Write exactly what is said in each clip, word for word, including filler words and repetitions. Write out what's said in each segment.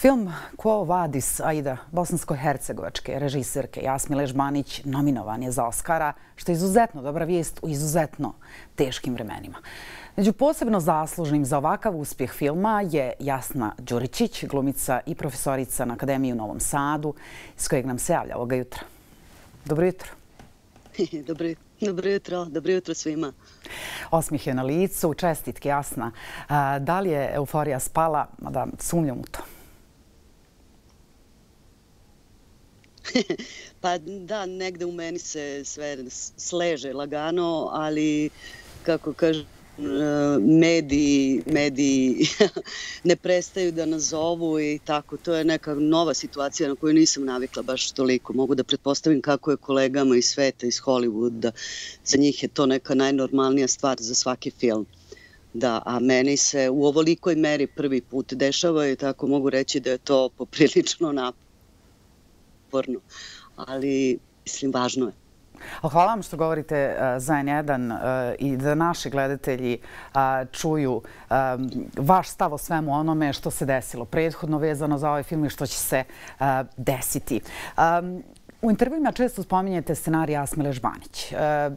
Film Quo Vadis Aida, bosansko-hercegovačke režiserke Jasmile Žbanić nominovan je za Oskara, što je izuzetno dobra vijest u izuzetno teškim vremenima. Među posebno zaslužnim za ovakav uspjeh filma je Jasna Đuričić, glumica i profesorica na Akademiji u Novom Sadu, iz kojeg nam se javlja ovoga jutra. Dobro jutro. Dobro jutro. Dobro jutro, dobro jutro svima. Osmijeh je na licu, čestitke Jasna. Da li je euforija spala? Da, sumnjam u to. Pa da, negde u meni se sve sleže lagano, ali kako kažem, mediji, mediji ne prestaju da nas zovu i tako. To je neka nova situacija na koju nisam navikla baš toliko. Mogu da pretpostavim kako je kolegama iz sveta, iz Hollywooda. Za njih je to neka najnormalnija stvar za svaki film. Da, a meni se u ovolikoj meri prvi put dešava i tako mogu reći da je to poprilično naporno. Ali, mislim, važno je. Hvala vam što govorite za en jedan i da naši gledatelji čuju vaš stav o svemu onome što se desilo prethodno vezano za ovaj film i što će se desiti. U intervjuima često spominjete scenarij Jasmile Žbanić.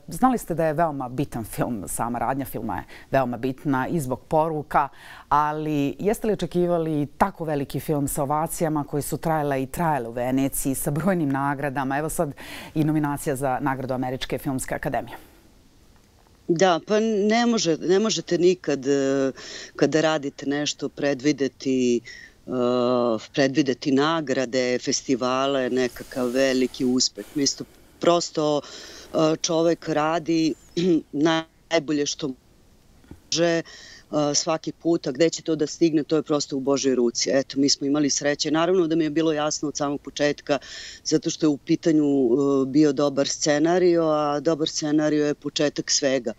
Znali ste da je veoma bitan film, sama radnja filma je veoma bitna i zbog poruka, ali jeste li očekivali tako veliki film sa ovacijama koji su trajale i trajale u Veneciji sa brojnim nagradama? Evo sad i nominacija za nagradu Američke filmske akademije. Da, pa ne, može, ne možete nikad kada radite nešto predvideti Uh, predvideti nagrade, festivale, nekakav veliki uspeh. Mislim, prosto uh, čovek radi najbolje što može uh, svaki put, a gde će to da stigne, to je prosto u Božoj ruci. Eto, mi smo imali sreće. Naravno da mi je bilo jasno od samog početka, zato što je u pitanju uh, bio dobar scenario, a dobar scenario je početak svega.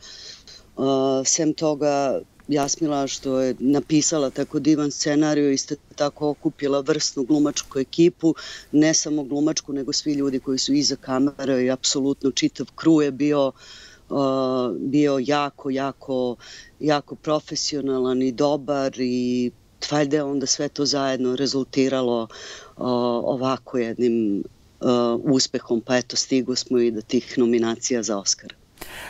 Uh, sem toga, Jasmila što je napisala tako divan scenariju, isto tako okupila vrsnu glumačku ekipu, ne samo glumačku, nego svi ljudi koji su iza kamere i apsolutno čitav kru je bio, uh, bio jako, jako, jako profesionalan i dobar i valjda je onda sve to zajedno rezultiralo uh, ovako jednim uh, uspehom, pa eto stigo smo i do tih nominacija za Oskar.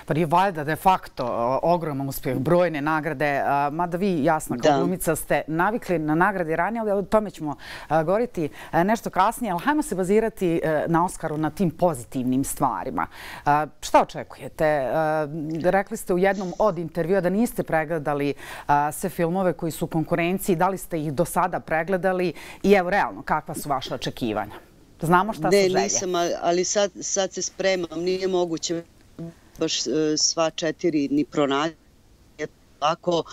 Pa je valjda de facto ogroman uspjeh, brojne nagrade, mada vi, Jasna, kao glumica ste navikli na nagrade ranije, ali o tome ćemo govoriti nešto kasnije, ali hajmo se bazirati na Oskaru na tim pozitivnim stvarima. Šta očekujete? Rekli ste u jednom od intervjua da niste pregledali sve filmove koji su u konkurenciji, da li ste ih do sada pregledali i evo realno, kakva su vaše očekivanja? Znamo šta su želje. Ne, nisam, ali sad, sad se spremam, nije moguće baš sva četiri ni pronaći. Tako,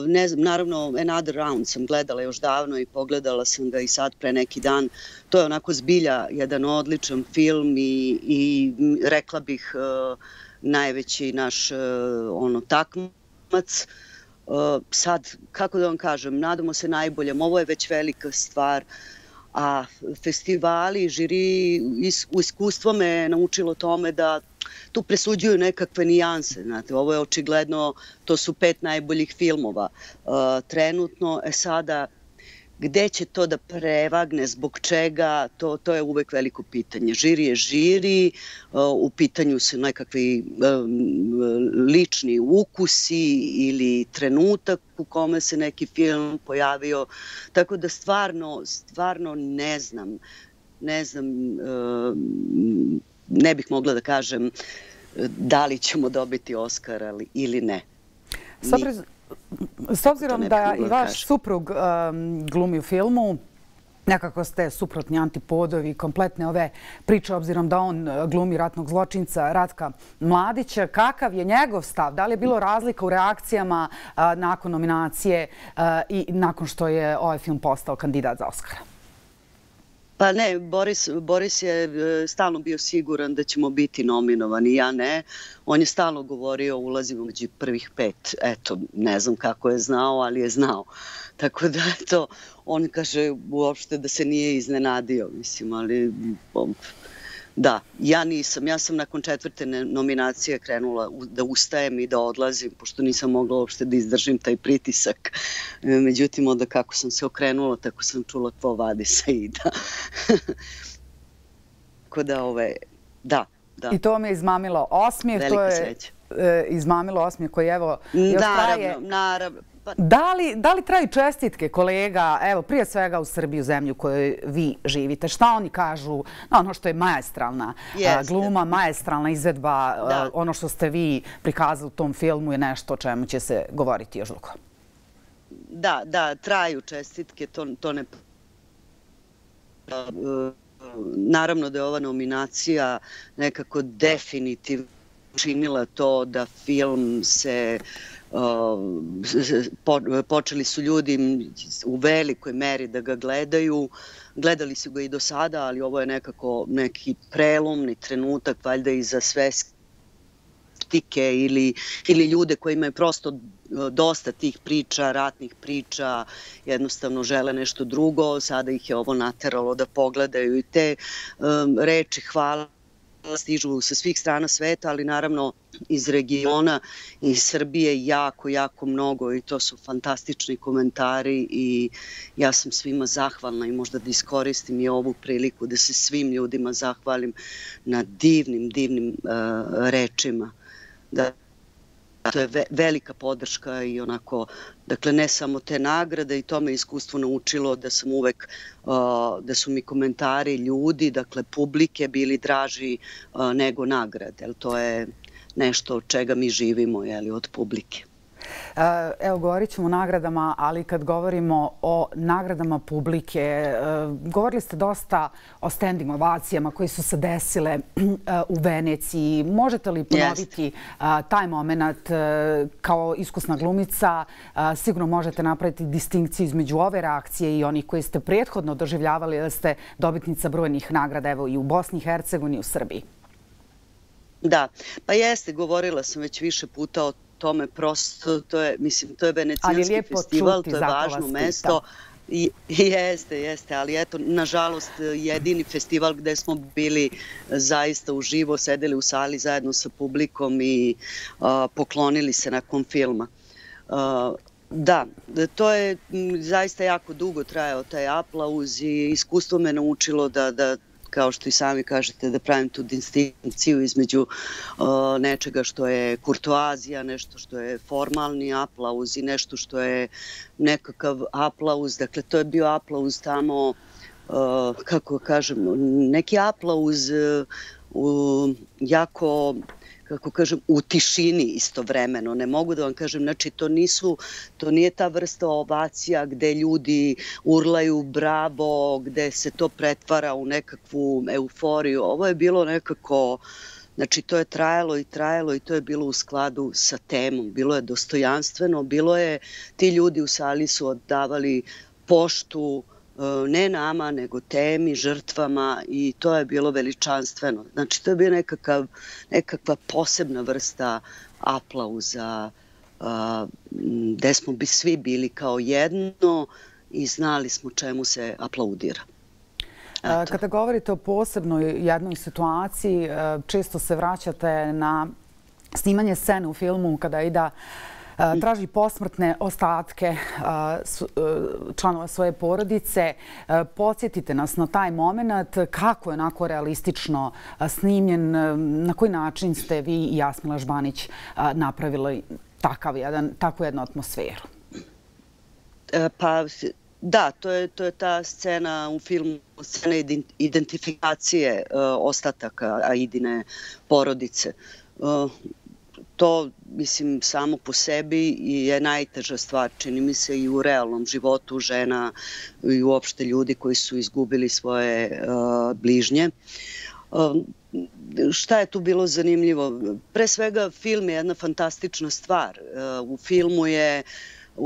ne znam, naravno Another Round sam gledala još davno i pogledala sam ga i sad pre neki dan. To je onako zbilja jedan odličan film i, i rekla bih najveći naš ono takmac. Sad, kako da vam kažem, nadamo se najboljem. Ovo je već velika stvar. A festivali, žiri, iskustvo me naučilo tome da tu presuđuju nekakve nijanse. Znate, ovo je očigledno, to su pet najboljih filmova uh, trenutno. E sada, gde će to da prevagne, zbog čega, to, to je uvek veliko pitanje. Žiri je žiri, uh, u pitanju su nekakvi um, lični ukusi ili trenutak u kome se neki film pojavio. Tako da stvarno, stvarno ne znam, ne znam, uh, ne bih mogla da kažem da li ćemo dobiti Oskar ili ne. S obzirom da i vaš suprug glumi u filmu, nekako ste suprotni antipodovi kompletne ove priče, obzirom da on glumi ratnog zločinca Ratka Mladića. Kakav je njegov stav? Da li je bilo razlika u reakcijama nakon nominacije i nakon što je ovaj film postao kandidat za Oskara? Pa ne, Boris, Boris je stalno bio siguran da ćemo biti nominovani, ja ne. On je stalno govorio ulazimo među prvih pet. Eto, ne znam kako je znao, ali je znao. Tako da, eto, on kaže uopšte da se nije iznenadio, mislim, ali Da, ja nisam. Ja sam nakon četvrte nominacije krenula da ustajem i da odlazim, pošto nisam mogla uopšte da izdržim taj pritisak. Međutim, onda kako sam se okrenula, tako sam čula Quo Vadis Aida. Tako da, ove, da, da. I to vam je izmamilo osmijeh. Velika sreća. Izmamilo osmijeh koji, evo, još traje. Naravno, naravno. Da li, da li traju čestitke kolega, evo, prije svega u Srbiji, u zemlju u kojoj vi živite? Šta oni kažu na ono što je maestralna gluma, maestralna izvedba, ono što ste vi prikazali u tom filmu je nešto o čemu će se govoriti još dugo? Da, da, traju čestitke, to, to ne... Naravno da je ova nominacija nekako definitivno učinila to da film se... Počeli su ljudi u velikoj meri da ga gledaju. Gledali su ga i do sada, ali ovo je nekako neki prelomni trenutak, valjda i za sve skeptike ili, ili ljude koji imaju prosto dosta tih priča, ratnih priča, jednostavno žele nešto drugo. Sada ih je ovo nateralo da pogledaju i te um, reči hvala stižu sa svih strana sveta, ali naravno iz regiona, iz Srbije jako, jako mnogo i to su fantastični komentari i ja sam svima zahvalna i možda da iskoristim i ovu priliku da se svim ljudima zahvalim na divnim, divnim uh, rečima. Da, to je ve velika podrška i onako, dakle ne samo te nagrade i to me iskustvo naučilo da sam uvek, uh, da su mi komentari ljudi, dakle publike bili draži uh, nego nagrade, jer to je nešto od čega mi živimo, jeli, od publike. Evo, govorit ćemo o nagradama, ali kad govorimo o nagradama publike, govorili ste dosta o standing ovacijama koji su se desile u Veneciji. Možete li ponoviti taj moment kao iskusna glumica? Sigurno možete napraviti distinkciju između ove reakcije i onih koji ste prethodno doživljavali da ste dobitnica brojnih nagrada, evo i u Bosni i Hercegovini i u Srbiji. Da, pa jeste, govorila sam već više puta o tome, prosto, to je, mislim, to je venecijanski festival, to je važno mesto. I, jeste, jeste, ali eto, nažalost, jedini festival gde smo bili zaista uživo, sedeli u sali zajedno sa publikom i a, poklonili se nakon filma. A, da, to je zaista jako dugo trajao taj aplauz i iskustvo me naučilo da, da kao što i sami kažete, da pravim tu distinkciju između uh, nečega što je kurtoazija, nešto što je formalni aplauz i nešto što je nekakav aplauz. Dakle, to je bio aplauz tamo, uh, kako kažem, neki aplauz uh, jako... kako kažem, u tišini istovremeno. Ne mogu da vam kažem, znači to nisu, to nije ta vrsta ovacija gde ljudi urlaju bravo, gde se to pretvara u nekakvu euforiju. Ovo je bilo nekako, znači to je trajalo i trajalo i to je bilo u skladu sa temom. Bilo je dostojanstveno, bilo je, ti ljudi u sali su oddavali poštu, ne nama, nego temi, žrtvama i to je bilo veličanstveno. Znači, to je bio nekakav, nekakva posebna vrsta aplauza gde smo bi svi bili kao jedno i znali smo čemu se aplaudira. Eto. Kada govorite o posebnoj jednoj situaciji, često se vraćate na snimanje scene u filmu kada Aida traži posmrtne ostatke članova svoje porodice. Podsjetite nas na taj moment kako je onako realistično snimljen, na koji način ste vi i Jasmila Žbanić napravili takav jedan, takvu jednu atmosferu? Pa da, to je, to je ta scena u filmu, scena identifikacije ostataka Aidine porodice. To, mislim, samo po sebi je najteža stvar, čini mi se, i u realnom životu žena i uopšte ljudi koji su izgubili svoje uh, bližnje. Uh, šta je tu bilo zanimljivo? Pre svega, film je jedna fantastična stvar. Uh, u filmu je,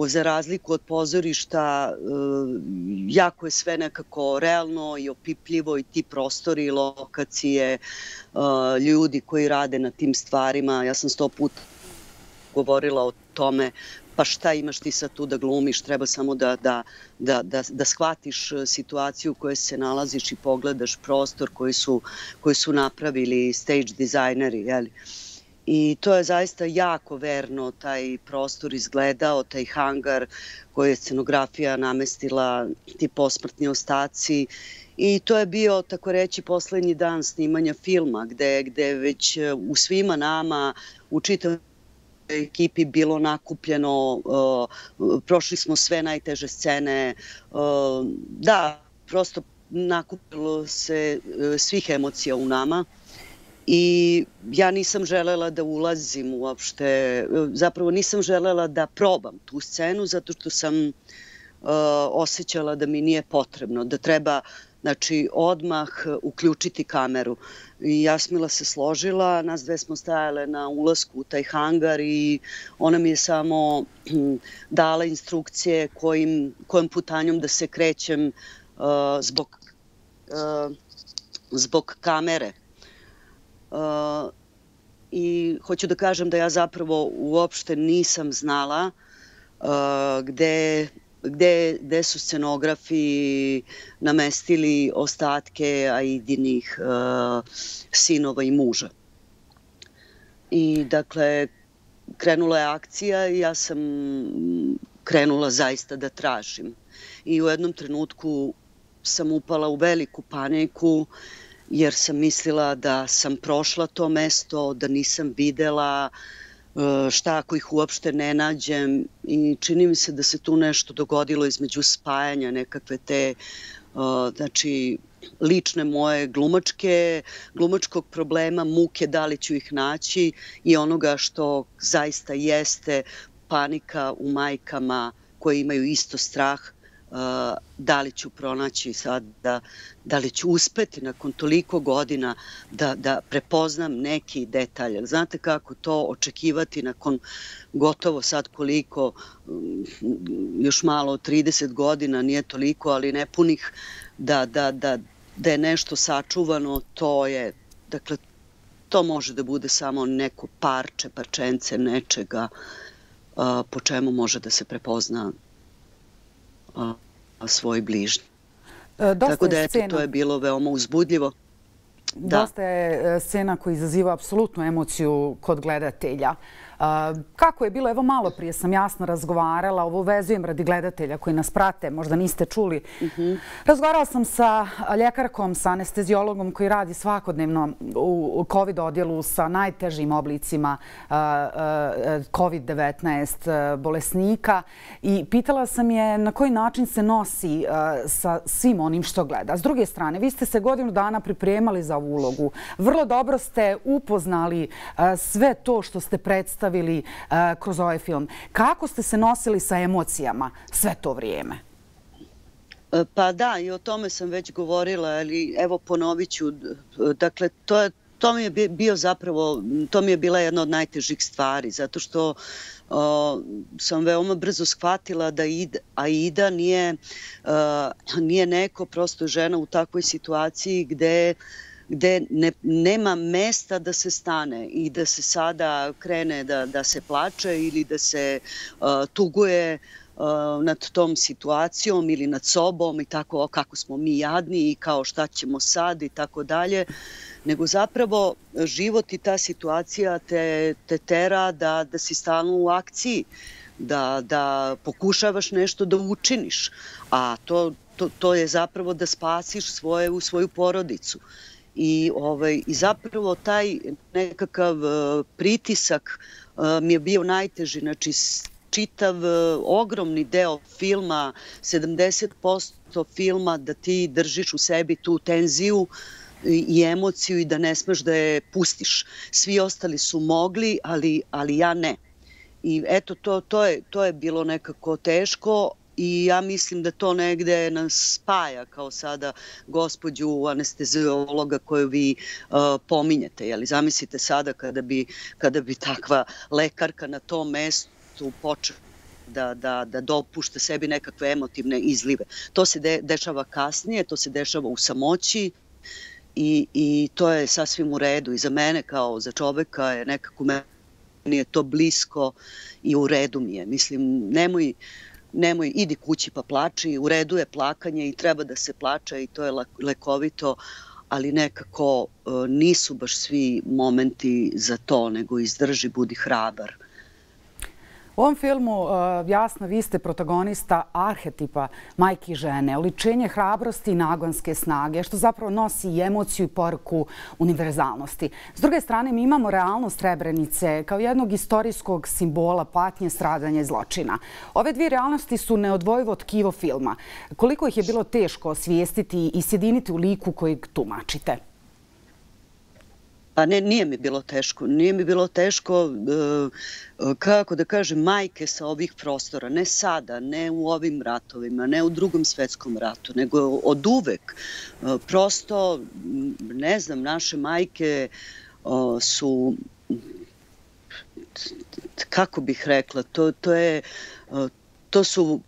za razliku od pozorišta, jako je sve nekako realno i opipljivo i ti prostori i lokacije, ljudi koji rade na tim stvarima. Ja sam sto puta govorila o tome pa šta imaš ti sad tu da glumiš, treba samo da, da, da, da, da shvatiš situaciju u kojoj se nalaziš i pogledaš prostor koji su, koji su napravili stage dizajneri, jeli? I to je zaista jako verno taj prostor izgledao, taj hangar koji je scenografija namestila, ti posmrtni ostaci. I to je bio, tako reći, poslednji dan snimanja filma, gde, gde već u svima nama, u čitavom ekipi bilo nakupljeno, uh, prošli smo sve najteže scene. Uh, da, prosto nakupilo se uh, svih emocija u nama. I ja nisam želela da ulazim uopšte, zapravo nisam želela da probam tu scenu zato što sam uh, osjećala da mi nije potrebno, da treba, znači, odmah uključiti kameru. I Jasmila se složila, nas dve smo stajale na ulasku u taj hangar i ona mi je samo dala instrukcije kojim, kojom putanjom da se krećem uh, zbog, uh, zbog kamere. Uh, I hoću da kažem da ja zapravo uopšte nisam znala uh, gde, gde, gde su scenografi namestili ostatke Aidinih uh, sinova i muža. I dakle, krenula je akcija i ja sam krenula zaista da tražim. I u jednom trenutku sam upala u veliku paniku jer sam mislila da sam prošla to mesto, da nisam videla šta ako ih uopšte ne nađem i čini mi se da se tu nešto dogodilo između spajanja nekakve te, znači, lične moje glumačke, glumačkog problema, muke da li ću ih naći i onoga što zaista jeste panika u majkama koje imaju isto strah, da li ću pronaći sad, da, da li ću uspeti nakon toliko godina da, da prepoznam neki detalj. Znate kako to očekivati nakon gotovo sad koliko, još malo, trideset godina, nije toliko, ali nepunih, da, da, da, da je nešto sačuvano, to je, dakle, to može da bude samo neko parče, parčence nečega po čemu može da se prepozna svoj bližnji. Tako da, eto, to je bilo veoma uzbudljivo. Dosta je scena koja izaziva apsolutnu emociju kod gledatelja. Kako je bilo? Evo, malo prije sam jasno razgovarala, ovo vezujem radi gledatelja koji nas prate, možda niste čuli. Razgovarala sam sa ljekarkom, sa anestezijologom koji radi svakodnevno u COVID odjelu sa najtežim oblicima kovid devetnaest bolesnika i pitala sam je na koji način se nosi sa svim onim što gleda. S druge strane, vi ste se godinu dana pripremali za ovu ulogu. Vrlo dobro ste upoznali sve to što ste predstavili kroz ovaj film. Kako ste se nosili sa emocijama sve to vrijeme? Pa da, i o tome sam već govorila, ali evo ponovit ću. Dakle, to je To mi je bio zapravo, to mi je bila jedna od najtežih stvari, zato što o, sam veoma brzo shvatila da Aida nije, a, nije neko, prosto žena u takvoj situaciji gde gde ne, nema mesta da se stane i da se sada krene da, da se plače ili da se uh, tuguje uh, nad tom situacijom ili nad sobom i tako kako smo mi jadni i kao šta ćemo sad i tako dalje, nego zapravo život i ta situacija te, te tera da, da si stalno u akciji, da, da pokušavaš nešto da učiniš, a to, to, to je zapravo da spasiš svoje, u svoju porodicu. I, ovaj, I zapravo taj nekakav uh, pritisak uh, mi je bio najteži. Znači, čitav uh, ogromni deo filma, sedamdeset posto filma, da ti držiš u sebi tu tenziju i, i emociju i da ne smeš da je pustiš. Svi ostali su mogli, ali, ali ja ne. I eto, to, to, je, to je bilo nekako teško. I ja mislim da to negde nas spaja, kao sada gospođu anestezijologa koju vi uh, pominjete. Jeli, zamislite sada kada bi, kada bi takva lekarka na tom mestu počela da, da, da dopušta sebi nekakve emotivne izlive. To se de, dešava kasnije, to se dešava u samoći i, i to je sasvim u redu. I za mene kao za čoveka je nekako meni je to blisko i u redu mi je. Mislim, nemoj, nemoj, idi kući pa plači, u redu je plakanje i treba da se plače i to je lekovito, ali nekako nisu baš svi momenti za to, nego izdrži, budi hrabar. U ovom filmu, jasno, vi ste protagonista arhetipa majke i žene, oličenje hrabrosti i nagonske snage, što zapravo nosi i emociju i poruku univerzalnosti. S druge strane, mi imamo realnost Srebrenice kao jednog istorijskog simbola patnje, stradanja i zločina. Ove dvije realnosti su neodvojivo tkivo filma. Koliko ih je bilo teško osvijestiti i sjediniti u liku kojeg tumačite? Pa ne, nije mi bilo teško. Nije mi bilo teško, kako da kažem, majke sa ovih prostora. Ne sada, ne u ovim ratovima, ne u Drugom svetskom ratu, nego od uvek. Prosto, ne znam, naše majke su, kako bih rekla, to, to, je, to su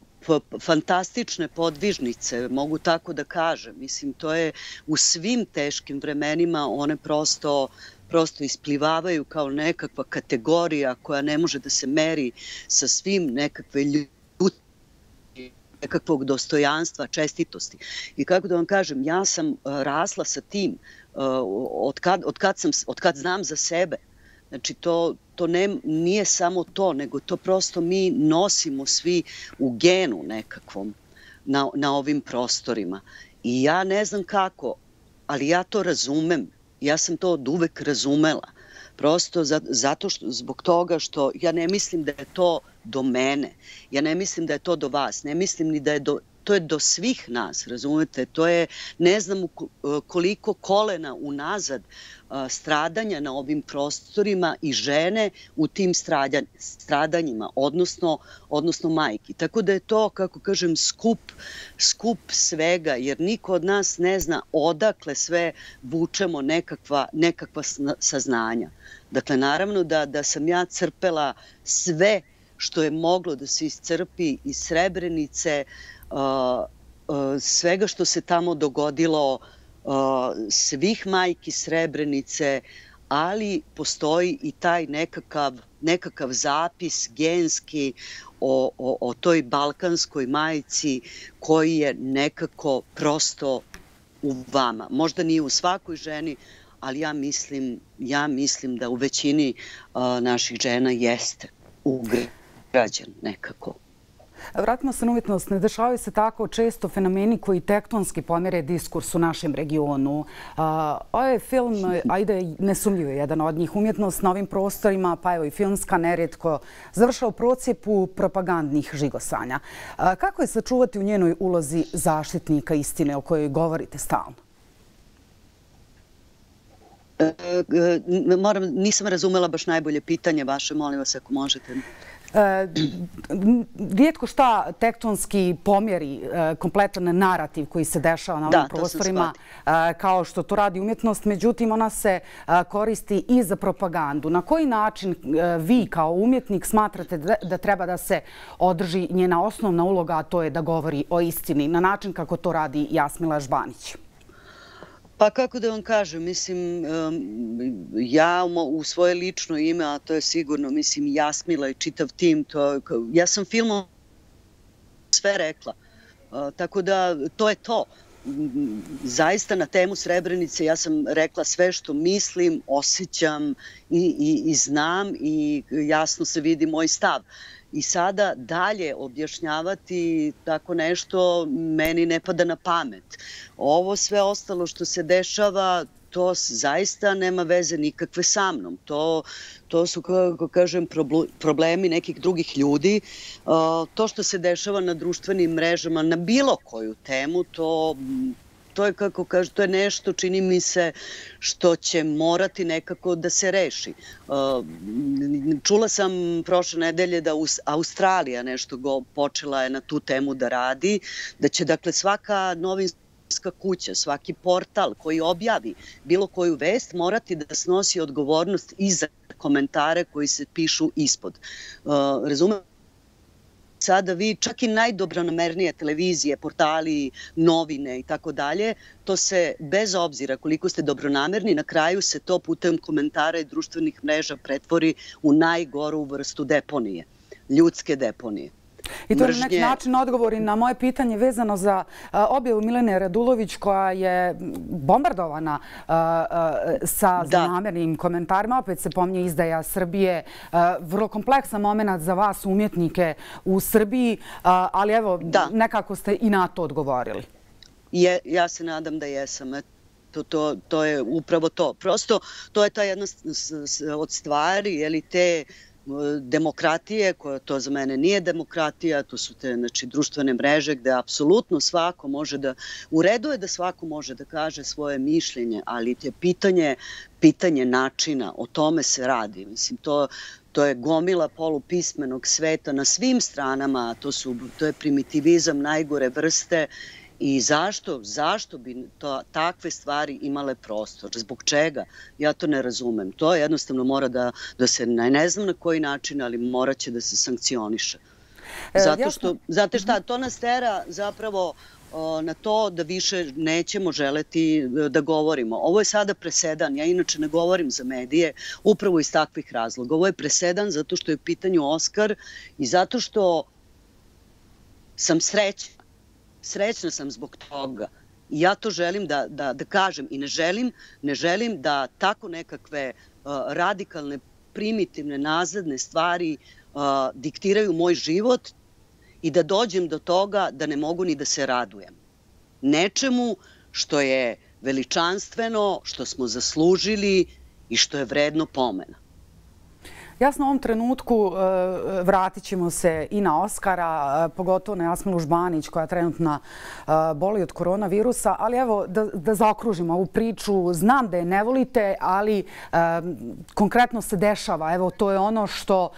fantastične podvižnice, mogu tako da kažem. Mislim, to je u svim teškim vremenima one prosto prosto isplivavaju kao nekakva kategorija koja ne može da se meri sa svim nekakve ljudske, nekakvog dostojanstva, čestitosti. I kako da vam kažem, ja sam rasla sa tim od kad, od kad, sam, od kad znam za sebe. Znači, to, to ne, nije samo to, nego to prosto mi nosimo svi u genu nekakvom na, na ovim prostorima. I ja ne znam kako, ali ja to razumem. Ja sam to od uvek razumela. Prosto zato što, zbog toga što ja ne mislim da je to do mene. Ja ne mislim da je to do vas. Ne mislim ni da je do... To je do svih nas, razumete? To je, ne znam koliko kolena unazad stradanja na ovim prostorima i žene u tim stradanjima, odnosno, odnosno majki. Tako da je to, kako kažem, skup, skup svega, jer niko od nas ne zna odakle sve vučemo nekakva, nekakva saznanja. Dakle, naravno da, da sam ja crpela sve što je moglo da se iscrpi iz Srebrenice, svega što se tamo dogodilo, svih majki Srebrenice, ali postoji i taj nekakav, nekakav zapis genski o, o, o toj balkanskoj majci koji je nekako prosto u vama. Možda nije u svakoj ženi, ali ja mislim, ja mislim da u većini naših žena jeste ugrađen nekako. Vratimo se na umjetnost. Ne dešavaju se tako često fenomeni koji tektonski pomere diskurs u našem regionu. Ovaj film, ajde, nesumljivo je jedan od njih. Umjetnost na ovim prostorima, pa evo i filmska, nerijetko završava u procijepu propagandnih žigosanja. Kako je sačuvati u njenoj ulozi zaštitnika istine o kojoj govorite stalno? Moram, nisam razumela baš najbolje pitanje vaše, molim vas ako možete. Rijetko šta tektonski pomjeri kompletan narativ koji se dešava na ovim prostorima, kao što to radi umjetnost, međutim ona se koristi i za propagandu. Na koji način vi kao umjetnik smatrate da treba da se održi njena osnovna uloga, a to je da govori o istini, na način kako to radi Jasmila Žbanić? Pa kako da vam kažem, mislim, ja u svoje lično ime, a to je sigurno, mislim, Jasmila i čitav tim, to, ja sam filmom sve rekla, tako da to je to. Zaista na temu Srebrenice ja sam rekla sve što mislim, osjećam i, i, i znam i jasno se vidi moj stav. I sada dalje objašnjavati tako nešto meni ne pada na pamet. Ovo sve ostalo što se dešava, to zaista nema veze nikakve sa mnom. To, to su, kako kažem, problemi nekih drugih ljudi. To što se dešava na društvenim mrežama, na bilo koju temu, to... To je, kako kaže, to je nešto, čini mi se, što će morati nekako da se reši. Čula sam prošle nedelje da Australija nešto počela je na tu temu da radi, da će, dakle, svaka novinska kuća, svaki portal koji objavi bilo koju vest morati da snosi odgovornost i za komentare koji se pišu ispod. Razumem? sada vi, čak i najdobronamernije televizije, portali, novine i tako dalje, to se bez obzira koliko ste dobronamerni, na kraju se to putem komentara i društvenih mreža pretvori u najgoru vrstu deponije, ljudske deponije. I to je na neki način odgovori na moje pitanje vezano za objavu Milene Radulović koja je bombardovana sa zlonamernim komentarima. Opet se pominje izdaja Srbije. Vrlo kompleksan moment za vas umjetnike u Srbiji, ali evo, nekako ste i na to odgovorili. Ja se nadam da jesam. To je upravo to. Prosto, to je ta jedna od stvari, je li te demokratije, koja to za mene nije demokratija, to su te društvene mreže gde apsolutno svako može da, u redu je da svako može da kaže svoje mišljenje, ali je pitanje, pitanje načina, o tome se radi. Mislim, to, to je gomila polupismenog sveta na svim stranama, to, su, to je primitivizam najgore vrste. I zašto? Zašto bi to, takve stvari imale prostor? Zbog čega? Ja to ne razumem. To jednostavno mora da, da se, ne znam na koji način, ali morat će da se sankcioniše. Zato što, znate šta, to nas tera zapravo na to da više nećemo želeti da govorimo. Ovo je sada presedan. Ja inače ne govorim za medije upravo iz takvih razloga. Ovo je presedan zato što je u pitanju Oskar i zato što sam srećna. Srećna sam zbog toga. I ja to želim da, da, da kažem i ne želim, ne želim da tako nekakve uh, radikalne, primitivne, nazadne stvari uh, diktiraju moj život i da dođem do toga da ne mogu ni da se radujem. Nečemu što je veličanstveno, što smo zaslužili i što je vredno pomena. Jasno, u ovom trenutku vratit ćemo se i na Oskara, pogotovo na Jasminu Žbanić koja trenutno boli od koronavirusa, ali evo da zaokružimo ovu priču. Znam da je ne volite, ali konkretno se dešava. Evo, to je ono što,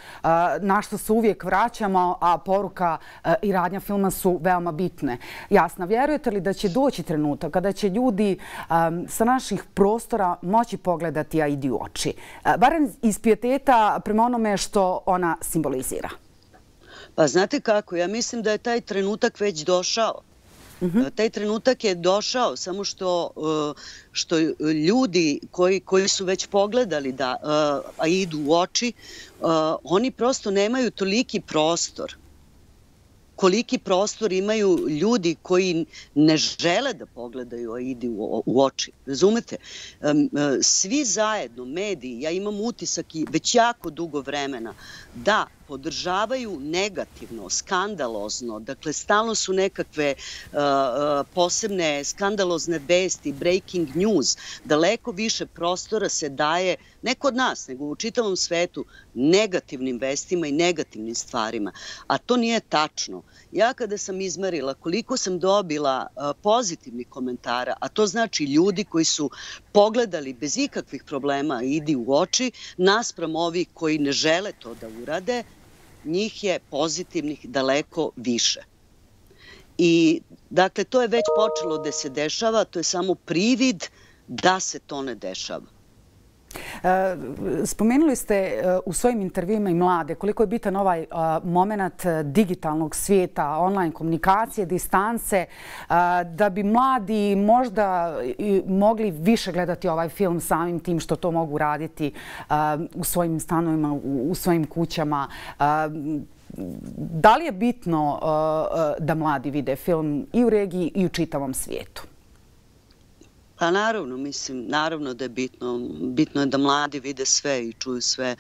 na što se uvijek vraćamo, a poruka i radnja filma su veoma bitne. Jasna, vjerujete li da će doći trenutak kada će ljudi sa naših prostora moći pogledati Aidi u oči? Barem iz pijeteta prema onome što ona simbolizira. Pa znate kako, ja mislim da je taj trenutak već došao. Taj trenutak je došao, samo što, što ljudi koji, koji su već pogledali da Aidu u oči, oni prosto nemaju toliki prostor. Koliki prostor imaju ljudi koji ne žele da pogledaju Aidi u oči. Razumete? Svi zajedno, mediji, ja imam utisak i već jako dugo vremena, da podržavaju negativno, skandalozno, dakle stalno su nekakve uh, posebne skandalozne vesti, breaking news, daleko više prostora se daje, ne kod nas, nego u čitavom svetu, negativnim vestima i negativnim stvarima. A to nije tačno. Ja kada sam izmerila koliko sam dobila uh, pozitivnih komentara, a to znači ljudi koji su pogledali bez ikakvih problema Idi u oči, naspram ovih koji ne žele to da urade, njih je pozitivnih daleko više. I, dakle, to je već počelo da se dešava, to je samo privid da se to ne dešava. Spomenuli ste u svojim intervjuima i mlade koliko je bitan ovaj moment digitalnog svijeta, online komunikacije, distance, da bi mladi možda mogli više gledati ovaj film samim tim što to mogu raditi u svojim stanovima, u svojim kućama. Da li je bitno da mladi vide film i u regiji i u čitavom svijetu? Pa naravno, mislim, naravno da je bitno. Bitno je da mladi vide sve i čuju sve.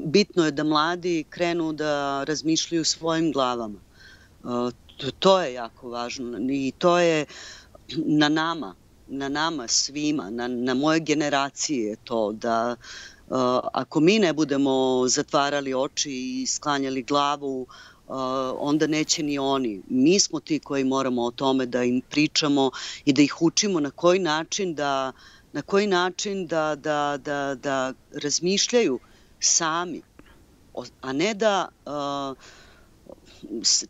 Bitno je da mladi krenu da razmišljaju svojim glavama. To je jako važno i to je na nama, na nama svima, na, na moje generacije je to da ako mi ne budemo zatvarali oči i sklanjali glavu, onda neće ni oni. Mi smo ti koji moramo o tome da im pričamo i da ih učimo na koji način da, na koji način da, da, da, da razmišljaju sami, a ne da uh,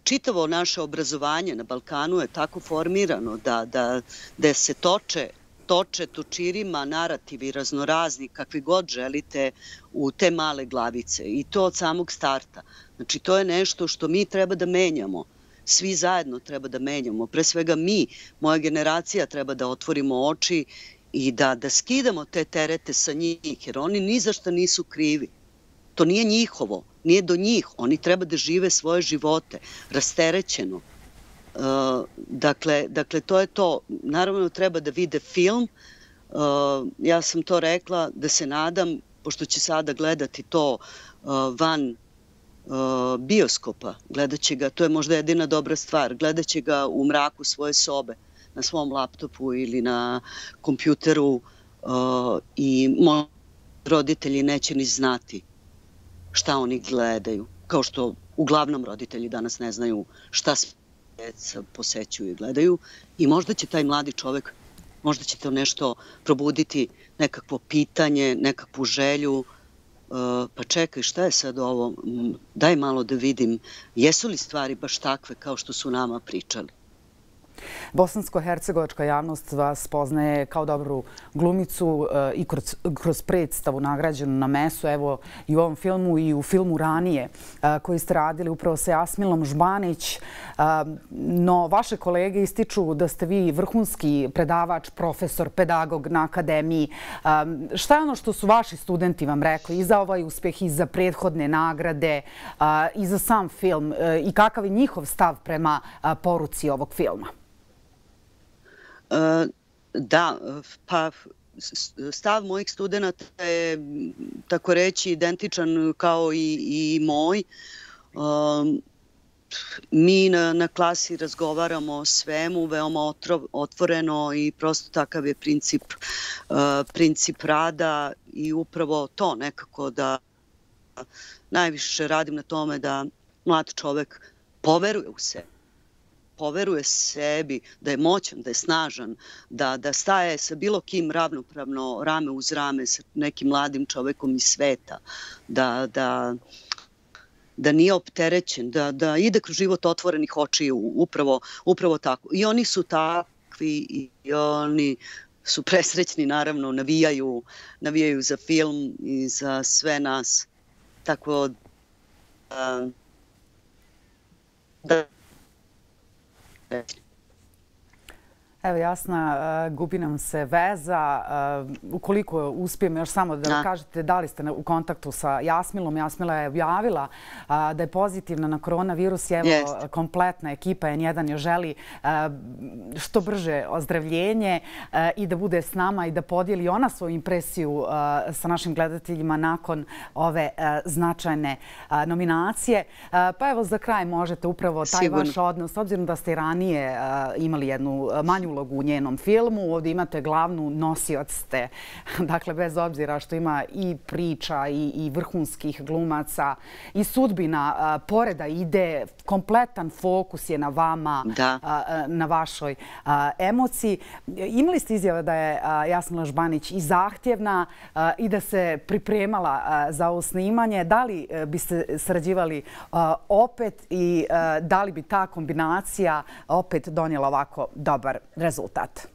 čitavo naše obrazovanje na Balkanu je tako formirano da, da, da se toče toče točirima narativi raznorazni, kakvi god želite, u te male glavice. I to od samog starta. Znači, to je nešto što mi treba da menjamo. Svi zajedno treba da menjamo. Pre svega mi, moja generacija, treba da otvorimo oči i da, da skidamo te terete sa njih, jer oni ni za šta nisu krivi. To nije njihovo, nije do njih. Oni treba da žive svoje živote, rasterećeno. Uh, dakle, dakle, to je to. Naravno, treba da vide film. Uh, ja sam to rekla da se nadam, pošto će sada gledati to uh, van uh, bioskopa, gledat će ga, to je možda jedina dobra stvar, gledat će ga u mraku svoje sobe, na svom laptopu ili na kompjuteru uh, i moji roditelji neće ni znati šta oni gledaju. Kao što uglavnom roditelji danas ne znaju šta sve deca posećuju i gledaju. I možda će taj mladi čovek, možda će to nešto probuditi, nekakvo pitanje, nekakvu želju. Uh, pa čekaj, šta je sad ovo? Daj malo da vidim, jesu li stvari baš takve kao što su nama pričali? Bosansko-hercegovačka javnost vas poznaje kao dobru glumicu i kroz, kroz predstavu nagrađenu na Mesu, evo i u ovom filmu i u filmu ranije koji ste radili upravo sa Jasmilom Žbanić. No, vaše kolege ističu da ste vi vrhunski predavač, profesor, pedagog na akademiji. Šta je ono što su vaši studenti vam rekli i za ovaj uspjeh i za prethodne nagrade i za sam film i kakav je njihov stav prema poruci ovog filma? Da, pa stav mojih studenta je, tako reći, identičan kao i, i moj. Mi na, na klasi razgovaramo o svemu, veoma otrov, otvoreno i prosto takav je princip, princip rada i upravo to nekako da najviše radim na tome da mlad čovek poveruje u sebe. Poveruje sebi, da je moćan, da je snažan, da, da staje sa bilo kim ravnopravno rame uz rame sa nekim mladim čovekom iz sveta, da, da, da nije opterećen, da, da ide kroz život otvorenih očiju, upravo, upravo tako. I oni su takvi i oni su presrećni, naravno, navijaju, navijaju za film i za sve nas. Tako da... da Evo, Jasna, gubi nam se veza. Ukoliko uspijem još samo da kažete da li ste u kontaktu sa Jasmilom. Jasmila je objavila da je pozitivna na koronavirus i evo kompletna ekipa N jedan joj želi što brže ozdravljenje i da bude s nama i da podijeli ona svoju impresiju sa našim gledateljima nakon ove značajne nominacije. Pa evo, za kraj možete upravo taj vaš odnos, s obzirom da ste i ranije imali jednu manju ulogu u njenom filmu. Ovdje imate glavnu, nosioc ste. Dakle, bez obzira što ima i priča i, i vrhunskih glumaca i sudbina poreda ide, kompletan fokus je na vama, da. Na vašoj emociji. Imali ste izjave da je Jasmila Žbanić i zahtjevna i da se pripremala za ovo snimanje. Da li biste sarađivali opet i da li bi ta kombinacija opet donijela ovako dobar rezultat?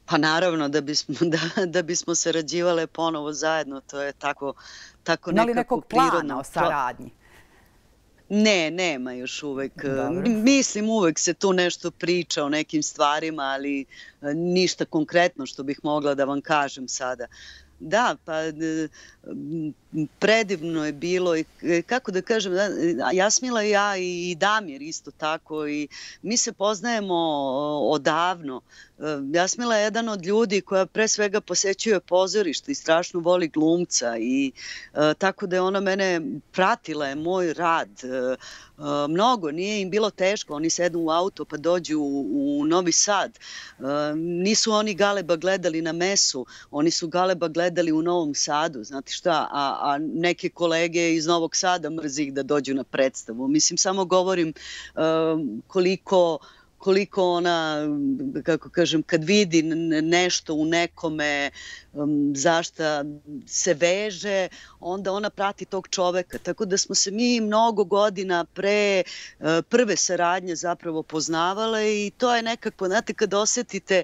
Pa naravno da bismo, da, da bismo sarađivale ponovo zajedno. To je tako, tako nekako prirodno. Da li nekog plana o saradnji? Ne, nema još uvek. Dobro. Mislim, uvek se tu nešto priča o nekim stvarima, ali ništa konkretno što bih mogla da vam kažem sada. Da, pa predivno je bilo i kako da kažem, Jasmila i ja i Damir isto tako i mi se poznajemo odavno. Jasmila je jedan od ljudi koja pre svega posećuje pozorište i strašno voli glumca i tako da je ona mene pratila, je moj rad. Mnogo, nije im bilo teško, oni sedu u auto pa dođu u, u Novi Sad. Nisu oni Galeba gledali na Mesu, oni su Galeba gledali u Novom Sadu, znate šta, a, a neke kolege iz Novog Sada mrzi ih da dođu na predstavu. Mislim, samo govorim koliko koliko ona, kako kažem, kad vidi nešto u nekome zašta se veže, onda ona prati tog čoveka. Tako da smo se mi mnogo godina pre prve saradnje zapravo poznavale i to je nekako, znate, kad osetite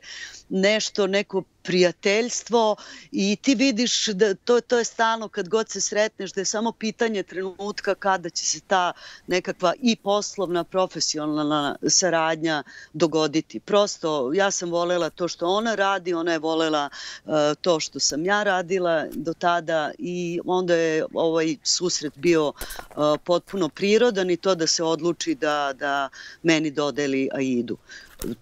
nešto, neko prijateljstvo i ti vidiš da to, to je stalno kad god se sretneš, da je samo pitanje trenutka kada će se ta nekakva i poslovna, profesionalna saradnja dogoditi. Prosto, ja sam volela to što ona radi, ona je volela uh, to što sam ja radila do tada i onda je ovaj susret bio uh, potpuno prirodan i to da se odluči da, da meni dodeli Aidu.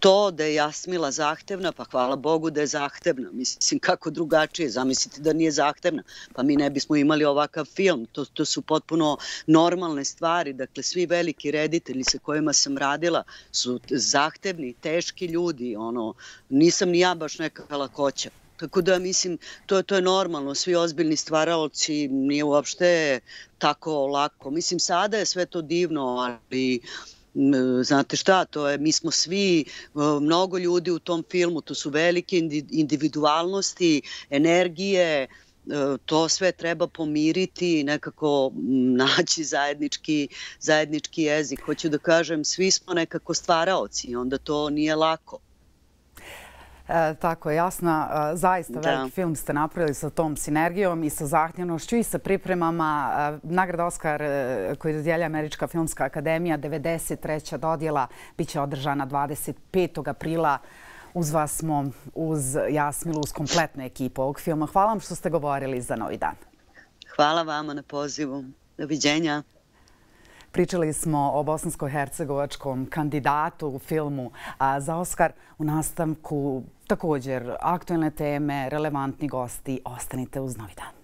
To da je Jasmila zahtevna, pa hvala Bogu da je zahtevna. Mislim, kako drugačije, zamislite da nije zahtevna, pa mi ne bismo imali ovakav film. To, to su potpuno normalne stvari. Dakle, svi veliki reditelji sa kojima sam radila su zahtevni, teški ljudi. Ono, nisam ni ja baš neka lakoća. Tako da, mislim, to, to je normalno. Svi ozbiljni stvaraoci nije uopšte tako lako. Mislim, sada je sve to divno, ali znate šta, to je, mi smo svi, mnogo ljudi u tom filmu, to su velike individualnosti, energije, to sve treba pomiriti i nekako naći zajednički, zajednički jezik. Hoću da kažem, svi smo nekako stvaraoci i onda to nije lako. E, tako je, Jasna. E, zaista da. Veliki film ste napravili sa tom sinergijom i sa zahtjevnošću i sa pripremama. E, nagrada Oskar e, koju dodjelja Američka filmska akademija, devedeset treća dodjela, bit će održana dvadeset petog aprila. Uz vas smo, uz Jasmilu, uz kompletnu ekipu ovog filma. Hvala vam što ste govorili za Novi dan. Hvala vama na pozivu. Doviđenja. Pričali smo o bosansko-hercegovačkom kandidatu u filmu za Oskar. U nastavku također aktuelne teme, relevantni gosti. Ostanite uz Novi dan.